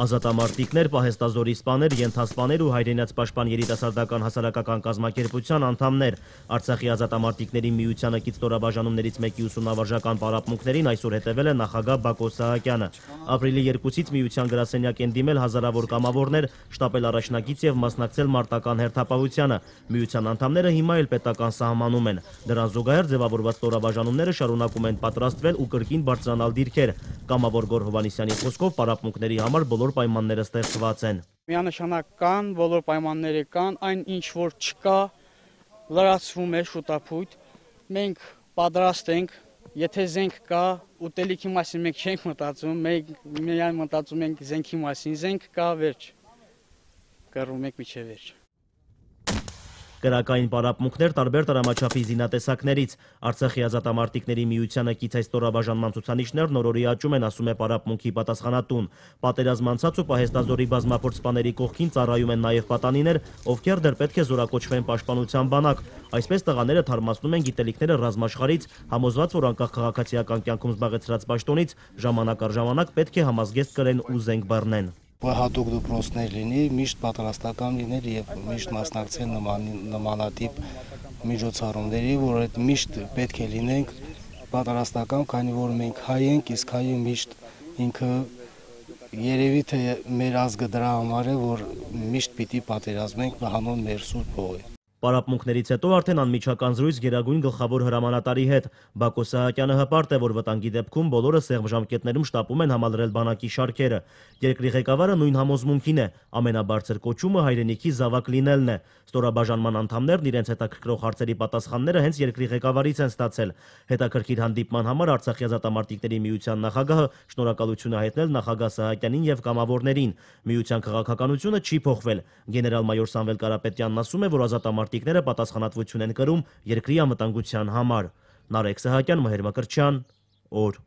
Ազատամարտիկներ, պահեստազորի սպաներ, ենթասպաներ ու հայրենաց պաշտպան երիտասարդական հասարակական կազմակերպության անդամներ։ Արցախի ազատամարտիկների միությանը կից ստորաբաժանումներից մեկի ուսումնավարժական պարապմունքներին այսօր հետևել է նախագահ Բակո Սահակյանը։ Ապրիլի 2-ից միության գրասենյակ են դիմել հազարավոր կամավորներ, շտապել առաջնակից եւ մասնակցել մարտական հերթապահությանը։ Միության անդամները հիմա էլ պետական սահմանում են։ Դրան զուգահեռ ձևավորված ստորաբաժանումները շարունակում են պատրաստվել ու կրկին բարձրանալ դիրքեր։ Կամավոր Գոռ Հովհաննիսյանի խոսքով պարապմունքների համար բոլոր պայմանները ստեղծված են։ Միանշանակ կան, բոլոր պայմանները կան, այն ինչ որ չկա, լրացվում է շուտապույտ։ Մենք պատրաստ ենք, եթե զենք կա, ուտելիքի մասին մենք չենք մտածում, մենք միայն մտածում ենք զենքի մասին, զենք կա, վերջ։ Կռվում ենք մինչև վերջ։ Կրակային պարապմունքներ տարբեր տրամաչափի զինատեսակներից։ Արցախի ազատամարտիկների միությանը կից այս ստորաբաժանման ցուցանիշներն օրորի աճում են, ասում է պարապմունքի պատասխանատուն։ Պատերազմ անցած ու պահեստազորի բազմափորձ սպաների կողքին ծառայում են նաև պատանիներ, ովքեր դեռ պետք է զորակոչվեն պաշտպանության բանակ։ Այսպես տղաները թարմացնում են գիտելիքները ռազմաշխարհից, համոզված, որ անկախ քաղաքացիական կյանքում զբաղեցրած պաշտոնից ժամանակ առ ժամանակ պետք է համազգեստ կրեն ու զենք բռնեն։ Հատուկ դպրոցներ լինի, միշտ պատրաստական լինել եւ միշտ մասնակցել նմանատիպ միջոցառումների, որ այդ միշտ պետք է լինենք պատրաստական, քանի որ մենք հայ ենք, իսկ հայը միշտ ինքը երևի թե մեր ազգը դրա համար է, որ միշտ պիտի պատերազմենք հանուն մեր սուրբ հողի։ Պարապմունքներից հետո արդեն անմիջական զրույց Գերագույն գլխավոր հրամանատարի հետ։ Բակո Սահակյանը հպարտ է, որ վտանգի դեպքում բոլորը սեղմ ժամկետներում շտապում են համալրել բանակի շարքերը։ Երկրի ղեկավարը նույն համոզմունքին է, ամենաբարձր կոչումը հայրենիքի զավակ լինելն է։ Ստորաբաժանման անդամներն իրենց հետաքրքրող հարցերի պատասխանները հենց երկրի ղեկավարից են ստացել։ Հետաքրքիր հանդիպման համար Արցախի ազատամարտիկների միության նախագահը շնորհակալություն է հայտնել նախագահ Սահակյանին եւ կամավորներին։ Միության քաղաքականությունը չի փոխվել։ Գեներալ-մայոր Սամվել Կարապետյանն ասում է, որ ազատամարտիկները պատասխանատվություն են կրում երկրի անվտանգության համար։ Նարեկ Սահակյան, Մհեր Մկրտչյան, օր։